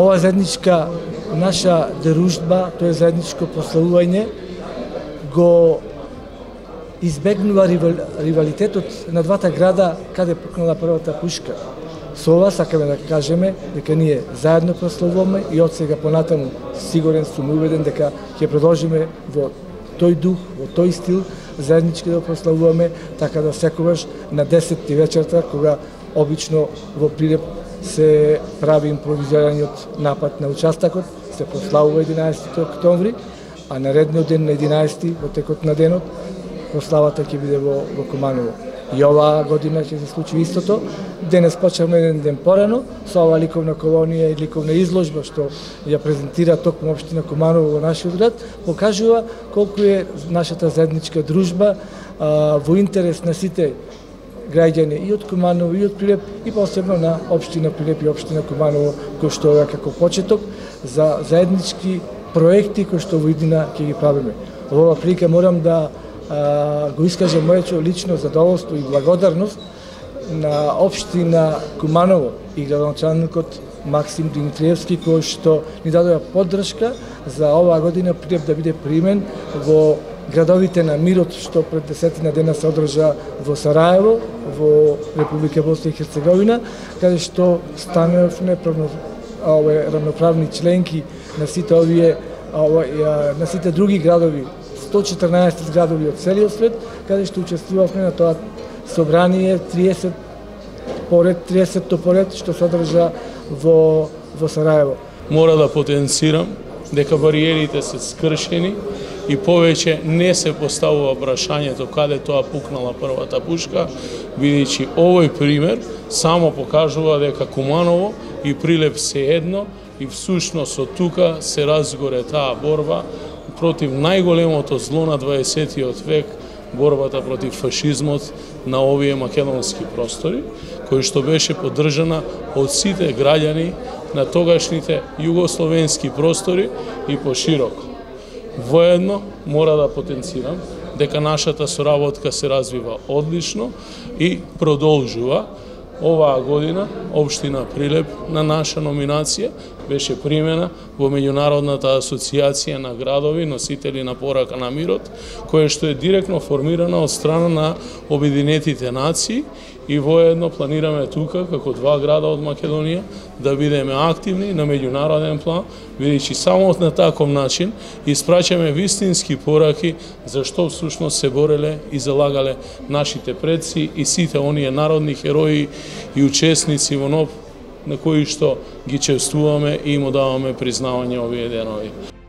Ова заедничка наша дружба, тоа заедничко прославување го избегнува ривалитетот на двата града каде пукнала првата пушка. Со ова сакаме да кажеме дека ние заедно прославуваме и од сега понатаму сигурен сум убеден дека ќе продолжиме во тој дух, во тој стил, заеднички да прославуваме, така да секогаш на 10 вечерта, кога обично во Прилеп се прави импровизираниот напад на участокот, се прославува 11 октомври, а наредниот ден на 11 во текот на денот прославата ќе биде во Куманово. И оваа година ќе се случи истото. Денес почнавме еден ден порано со ова ликовна колонија и ликовна изложба што ја презентира токму општина Куманово во нашиот град, покажува колку е нашата заедничка дружба во интерес на сите граѓани и од Куманово и од Прилеп и посебно на општина Прилеп и општина Куманово, кој што е како почеток за заеднички проекти кои што во иднина ќе ги правиме. Во оваа прилика морам да го искажам моето лично задоволство и благодарност на општина Куманово и градоначалникот Максим Димитриевски, кој што ни дадоа поддршка за оваа година Прилеп да биде примен во градовите на мирот, што пред 10 дена се одржа во Сараево, во Република Босна и Херцеговина, каде што станавме рамноправни членки на сите овие на сите други градови, 114 градови од целиот свет, каде што учествувавме на тоа собрание 30 поред што се одржа во Сараево. Мора да потенцирам дека бариерите се скршени и повеќе не се поставува прашањето каде тоа пукнала првата пушка, бидејќи овој пример само покажува дека Куманово и Прилеп се едно и всушност од тука се разгоре таа борба против најголемото зло на 20 век, борбата против фашизмот на овие македонски простори, кој што беше поддржана од сите граѓани на тогашните југословенски простори и пошироко. Воедно мора да потенцирам дека нашата соработка се развива одлично и продолжува. Оваа година општина Прилеп на наша номинација беше примена во меѓународната асоциација на градови носители на порака на мирот, која што е директно формирана од страна на Обединетите нации и воедно планираме тука како два града од Македонија да бидеме активни на меѓународен план, бидејќи само на таков начин испраќаме вистински пораки за што всушност се бореле и залагале нашите предци и сите оние народни херои и учесници во НОБ на кои што ги чествуваме и им даваме признавање овие денови.